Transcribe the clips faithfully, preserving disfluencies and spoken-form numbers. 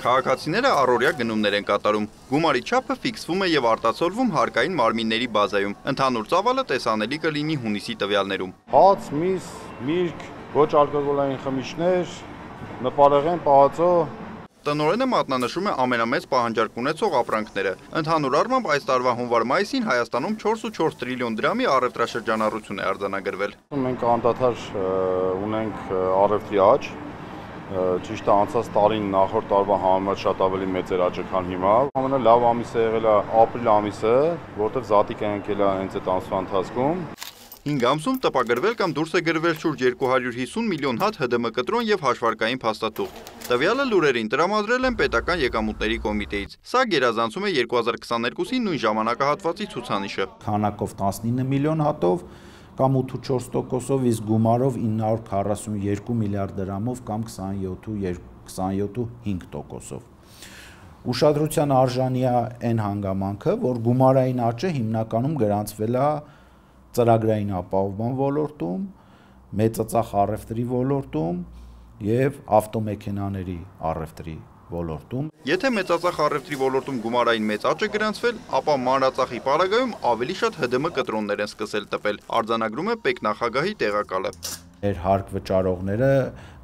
Քաղաքացիները առօրյա գնումներ են կատարում։ Գումարի չափը ֆիքսվում է եւ արտացոլվում հարկային մարմինների բազայում։ Ընդհանուր ծավալը տեսանելի կլինի հունիսի տվյալներում։ Հաց, միս, միրգ, ոչ ալկոգոլային խմիչքներ, նպարեղեն, պահածո։ Տնօրենը մատնանշում է ամենամեծ պահանջարկ ունեցող ապրանքները։ Ընդհանուր առմամբ այս տարվա հունվար-մայիսին Հայաստանում չորս ու չորս տրիլիոն դրամի առևտրաշրջանառություն է արձանագրվել։ Մենք անդադար ունենք առևտրի աճ, ճիշտ է անցած տարին նախորդ տարվա համեմատ շատ ավելի մեծ էր աճը, քան հիմա։ Ամենալավ ամիսը եղել է ապրիլ ամիսը, որտեղ զատիկ է ընկել հենց այդ ամսվա ընթացքում։ հինգ ամսում տպագրվել կամ դուրս է գրվել շուրջ երկու հարյուր հիսուն միլիոն հատ Հ ԴՄ կտրոն եւ հաշվարկային փաստաթուղթ։ Տվյալը լուրերին տրամադրել են Պետական եկամուտների կոմիտեից։ Սա գերազանցում է երկու հազար քսաներկուսի նույն ժամանակահատվածի ցուցանիշը։ Քանակով տասնինը միլիոն հատով կամ ութ ու չորս տոկոսով, իսկ գումարով ինը հարյուր քառասունյոթ միլիարդ դրամով կամ քսանյոթ ու հինգ տոկոսով։ Ուշադրության արժանի է այն հանգամանքը, որ գումարային աճը հիմնականում գրանցվել է ծրագրային ապահովման ոլորտում, մեծածախ առևտրի ոլորտում եւ ավտոմեքենաների առևտրի ոլորտում։ Եթե մեծածախ առևտրի ոլորտում գումարային մեծ աճ է գրանցվել, ապա մանրածախի պարագայում ավելի շատ Հ ԴՄ կտրոններ են սկսել տպել, արձանագրում է պետնախագահի տեղակալը։ Մեր հարկ վճարողները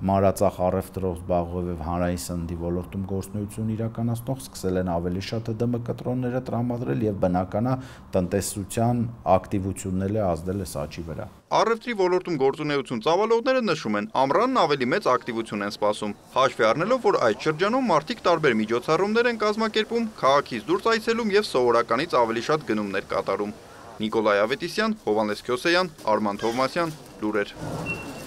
մանրածախ առևտրով զբաղվող եւ հանրային սննդի ոլորտում գործունեություն իրականացնող սկսել են ավելի շատ Հ ԴՄ կտրոնները տրամադրել եւ բնականա տնտեսության ակտիվությունները ազդել է աճի վրա։ Առևտրի ոլորտում գործունեություն ծավալողները նշում են, ամռանն ավելի մեծ ակտիվություն են սպասում, հաշվի առնելով, որ այդ շրջանում մարդիկ տարբեր միջոցառումներ են կազմակերպում, քաղաքից դուրս այցելում եւ սովորականից ավելի շատ գնումներ կատարում։ Նիկոլայ Ավետիսյան, Հովհաննես Քյոսեյան, Արման Թովմասյան, լուրեր։